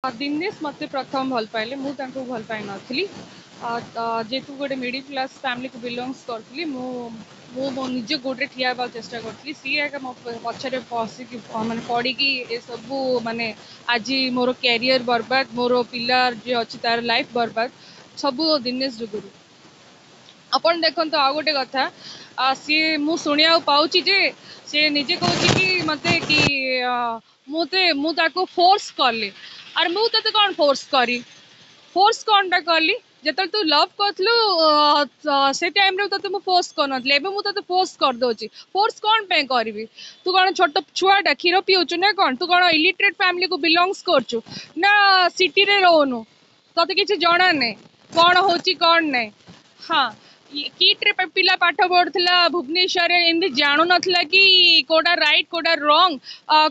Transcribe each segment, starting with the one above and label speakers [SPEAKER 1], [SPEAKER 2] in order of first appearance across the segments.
[SPEAKER 1] ଦିନେଶ ମୋତେ ପ୍ରଥମ ଭଲ ପାଇଲେ, ମୁଁ ତାଙ୍କୁ ଭଲ ପାଇନଥିଲି। ଯେହେତୁ ଗୋଟେ ମିଡ଼ିଲ୍ କ୍ଲାସ୍ ଫ୍ୟାମିଲିକୁ ବିଲଙ୍ଗସ୍ କରୁଥିଲି, ମୁଁ ମୋ ନିଜ ଗୋଡ଼ରେ ଠିଆ ହେବାକୁ ଚେଷ୍ଟା କରୁଥିଲି। ସିଏ ଏକା ମୋ ପଛରେ ପଶିକି, ମାନେ ପଡ଼ିକି ଏସବୁ, ମାନେ ଆଜି ମୋର କ୍ୟାରିୟର ବର୍ବାଦ, ମୋର ପିଲା ଯିଏ ଅଛି ତାର ଲାଇଫ୍ ବର୍ବାଦ, ସବୁ ଦିନେଶ ଯୋଗୁରୁ। ଆପଣ ଦେଖନ୍ତୁ, ଆଉ ଗୋଟେ କଥା, ସିଏ ମୁଁ ଶୁଣିବାକୁ ପାଉଛି ଯେ ସିଏ ନିଜେ କହୁଛି କି ମୋତେ କି ମୁଁ ତାକୁ ଫୋର୍ସ କଲି। ଆରେ ମୁଁ ତତେ କ'ଣ ଫୋର୍ସ କରି, ଫୋର୍ସ କ'ଣଟା କଲି? ଯେତେବେଳେ ତୁ ଲଭ୍ କରୁଥିଲୁ ସେ ଟାଇମ୍ରେ ତତେ ମୁଁ ଫୋର୍ସ କରୁନଥିଲି, ଏବେ ମୁଁ ତତେ ଫୋର୍ସ କରିଦେଉଛି। ଫୋର୍ସ କ'ଣ ପାଇଁ କରିବି? ତୁ କ'ଣ ଛୋଟ ଛୁଆଟା କ୍ଷୀର ପିଉଛୁ ନା କ'ଣ? ତୁ କ'ଣ ଇଲିଟରେଟ୍ ଫ୍ୟାମିଲିକୁ ବିଲଙ୍ଗସ୍ କରୁଛୁ ନା ସିଟିରେ ରହୁନୁ, ତତେ କିଛି ଜଣା ନାହିଁ କ'ଣ ହେଉଛି କ'ଣ ନାହିଁ? ହଁ, କିଟ୍ରେ ପିଲା ପାଠ ପଢୁଥିଲା ଭୁବନେଶ୍ୱରରେ, ଏମିତି ଜାଣୁନଥିଲା କି କୋଉଟା ରାଇଟ୍ କୋଉଟା ରଙ୍ଗ,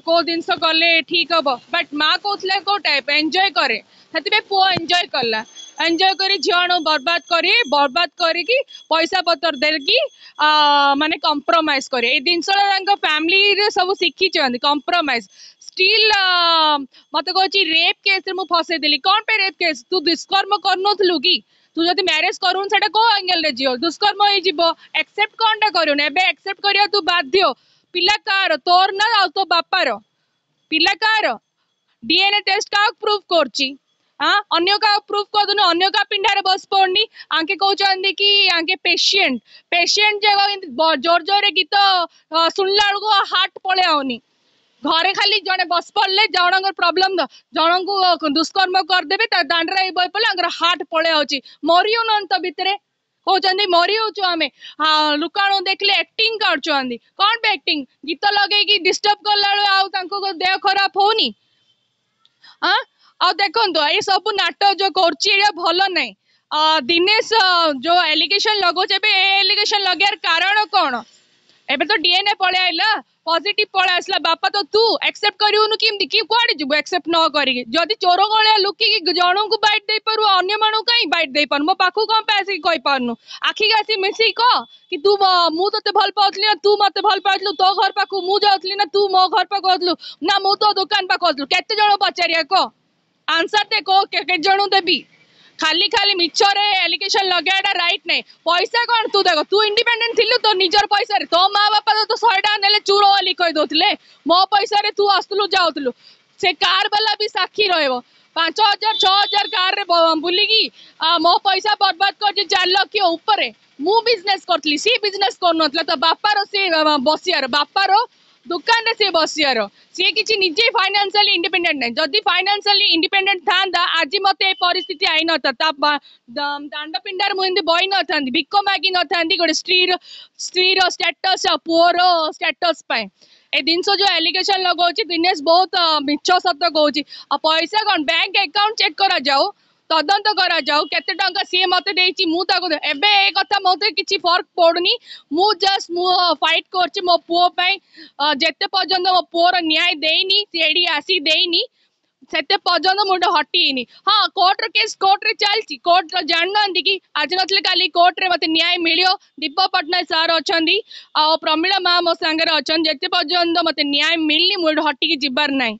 [SPEAKER 1] କୋଉ ଜିନିଷ କଲେ ଠିକ ହବ। ବଟ୍ ମା କହୁଥିଲା କୋଉ ଟାଇପ୍ ଏନ୍ଜୟ କରେ, ସେଥିପାଇଁ ପୁଅ ଏନ୍ଜୟ କଲା। ଏନ୍ଜୟ କରି ଝିଅଣୁ ବର୍ବାଦ କରି, ବର୍ବାଦ କରିକି ପଇସା ପତ୍ର ଦେଇକି, ମାନେ କମ୍ପ୍ରମାଇଜ କରି। ଏଇ ଜିନିଷଟା ତାଙ୍କ ଫ୍ୟାମିଲିରେ ସବୁ ଶିଖିଛନ୍ତି, କମ୍ପ୍ରମାଇଜ। ଷ୍ଟିଲ୍ ମତେ କହୁଛି ରେପ୍ କେସ୍ରେ ମୁଁ ଫସେଇଦେଲି। କ'ଣ ପାଇଁ ରେପ୍ କେସ୍? ତୁ ଦୁଷ୍କର୍ମ କରୁନଥିଲୁ କି? ତୁ ଯଦି ମ୍ୟାରେଜ କରୁନୁ ସେଟା କୋଉ ଆଙ୍ଗେଲରେ ଯିବ? ଦୁଷ୍କର୍ମ ହେଇଯିବ। ଆକ୍ସେପ୍ଟ କ'ଣଟା କରୁନୁ? ଏବେ ଆକ୍ସେପ୍ଟ କରିବା ତୁ ବାଧ୍ୟ। ପିଲା କାହାର, ତୋର ନା ଆଉ ତୋ ବାପାର? ପିଲା କାହାର? ଡିଏନଏ ଟେଷ୍ଟ କାହାକୁ ପ୍ରୁଭ୍ କରୁଛି? ହଁ, ଅନ୍ୟ କାହାକୁ ପ୍ରୁଭ୍ କରିଦଉନୁ, ଅନ୍ୟ କାହା ପିଣ୍ଡାରେ ବସି ପଡୁନି। ଆଙ୍କେ କହୁଛନ୍ତି କି ଆଙ୍କେ ପେସେଣ୍ଟ, ପେସେଣ୍ଟ ଯାକ ଜୋର ଜୋରରେ ଗୀତ ଶୁଣିଲା ବେଳକୁ ହାର୍ଟ ପଳେଇ ଆଉନି। ଘରେ ଖାଲି ଜଣେ ବସି ପଡିଲେ, ଜଣଙ୍କର ପ୍ରୋବ୍ଲେମ, ଜଣଙ୍କୁ ଦୁଷ୍କର୍ମ କରିଦେବେ, ତା ଦାଣ୍ଡରେ ବହି ପଡ଼ିଲେ ଆଙ୍କର ହାର୍ଟ ପଳେଇ ଆଉଛି। ମରି ହଉନାହାନ୍ତି ତ ଭିତରେ କହୁଛନ୍ତି ମରି ହଉଛୁ ଆମେ। ଲୋକମାନଙ୍କୁ ଦେଖିଲେ ଆକ୍ଟିଂ କରୁଛନ୍ତି। କଣ ପାଇଁ ଆକ୍ଟିଂ? ଗୀତ ଲଗେଇକି ଡିଷ୍ଟର୍ବ କଲା ବେଳୁ ଆଉ ତାଙ୍କୁ ଦେହ ଖରାପ ହଉନି? ଆଁ ଆଉ ଦେଖନ୍ତୁ, ଏଇ ସବୁ ନାଟକ ଯୋଉ କରୁଛି ଏଇଟା ଭଲ ନାହିଁ। ଦିନେଶ ଯୋଉ ଏଲିଗେସନ ଲଗାଉଛି ଏବେ, ଏ ଏଲିଗେସନ ଲଗେଇବାର କାରଣ କଣ? ଏବେ ତ ଡିଏନଏ ପଳେଇ ଆଇଲା, ପଜିଟିଭ ପଳେଇ ଆସିଲା, ବାପା ତ ତୁ ଆକ୍ସେପ୍ଟ କରିବୁନୁ କେମିତି କି? କୁଆଡେ ଯିବୁ ଆକ୍ସେପ୍ଟ ନ କରିକି? ଯଦି ଚୋର ଭଳିଆ ଲୁକିକି ଜଣଙ୍କୁ ବାଇଟ୍ ଦେଇପାରୁ, ଅନ୍ୟମାନଙ୍କୁ କାହିଁ ବାଇଟ୍ ଦେଇପାରୁନୁ? ମୋ ପାଖକୁ କଣ ପାଇଁ ଆସିକି କହିପାରୁନୁ? ଆଖିକି ଆସି ମିଶିକି କହ କି ତୁ, ମୁଁ ତତେ ଭଲ ପାଉଥିଲି ନା ତୁ ମତେ ଭଲ ପାଉଥିଲୁ? ତୋ ଘର ପାଖକୁ ମୁଁ ଯାଉଥିଲି ନା ତୁ ମୋ ଘର ପାଖକୁ ଆଉଥିଲୁ, ନା ମୁଁ ତୋ ଦୋକାନ ପାଖକୁ ଆଉଥିଲୁ? କେତେ ଜଣ ପଚାରିବା କହ, ଆନ୍ସର ଦେ, କହ କେତେ ଜଣଙ୍କୁ ଦେବି? ଖାଲି ଖାଲି ମିଛରେ ଆଲିଗେସନ ଲଗେଇବାଟା ରାଇଟ୍ ନାହିଁ। ପଇସା କଣ? ତୁ ଦେଖ, ତୁ ଇଣ୍ଡିପେଣ୍ଡେଣ୍ଟ ଥିଲୁ ତୋ ନିଜର ପଇସାରେ। ତୋ ମା ବାପା ତ 100 ଟଙ୍କା ନେଲେ ଚୁର ବୋଲି କହିଦଉଥିଲେ। ମୋ ପଇସାରେ ତୁ ଆସୁଥିଲୁ ଯାଉଥିଲୁ, ସେ କାର ବାଲା ବି ସାକ୍ଷୀ ରହିବ। 5000 6000 କାରରେ ବୁଲିକି ମୋ ପଇସା ବର୍ବାଦ କରିଛି 4 ଲକ୍ଷ ଉପରେ। ମୁଁ ବିଜନେସ କରୁଥିଲି, ସିଏ ବିଜନେସ କରୁନଥିଲା। ତ ବାପାର ସିଏ ବସିବାର, ବାପାର ଦୋକାନରେ ସିଏ ବସିବାର। ସିଏ କିଛି ନିଜେ ଫାଇନାନ୍ସିଆଲି ଇଣ୍ଡିପେଣ୍ଡେଣ୍ଟ ନାହିଁ। ଯଦି ଫାଇନାନ୍ସିଆଲି ଇଣ୍ଡିପେଣ୍ଡେଣ୍ଟ ଥାନ୍ତା, ଆଜି ମତେ ଏ ପରିସ୍ଥିତି ଆଇନଥାନ୍ତା। ତା ଦାଣ୍ଡ ପିଣ୍ଡାରେ ମୁଁ ଏମିତି ବଇ ନଥାନ୍ତି, ଭିକ ମାଗି ନଥାନ୍ତି ଗୋଟେ ସ୍ତ୍ରୀର ଷ୍ଟାଟସ୍ ଆଉ ପୁଅର ଷ୍ଟାଟସ୍ ପାଇଁ। ଏ ଜିନିଷ ଯୋଉ ଆଲିଗେସନ ଲଗାଉଛି ଦିନେଶ, ବହୁତ ମିଛ ସତ କହୁଛି। ଆଉ ପଇସା କଣ? ବ୍ୟାଙ୍କ ଆକାଉଣ୍ଟ ଚେକ୍ କରାଯାଉ, ତଦନ୍ତ କରାଯାଉ, କେତେ ଟଙ୍କା ସିଏ ମତେ ଦେଇଛି, ମୁଁ ତାକୁ। ଏବେ ଏ କଥା ମତେ କିଛି ଫରକ ପଡୁନି। ମୁଁ ଜଷ୍ଟ ମୁଁ ଫାଇଟ୍ କରୁଛି ମୋ ପୁଅ ପାଇଁ। ଯେତେ ପର୍ଯ୍ୟନ୍ତ ମୋ ପୁଅର ନ୍ୟାୟ ଦେଇନି, ସିଏ ଏଠି ଆସିକି ଦେଇନି, ସେତେ ପର୍ଯ୍ୟନ୍ତ ମୁଁ ଏଠି ହଟିନି। ହଁ, କୋର୍ଟର କେସ୍ କୋର୍ଟରେ ଚାଲିଛି। କୋର୍ଟର ଜାଣିନାହାନ୍ତି କି ଆଜି ନଥିଲେ କାଲି କୋର୍ଟରେ ମତେ ନ୍ୟାୟ ମିଳିବ। ଦୀପକ ପଟ୍ଟନାୟକ ସାର୍ ଅଛନ୍ତି ଆଉ ପ୍ରମିଳା ମା ମୋ ସାଙ୍ଗରେ ଅଛନ୍ତି। ଯେତେ ପର୍ଯ୍ୟନ୍ତ ମତେ ନ୍ୟାୟ ମିଳିନି, ମୁଁ ଏଠି ହଟିକି ଯିବାର ନାହିଁ।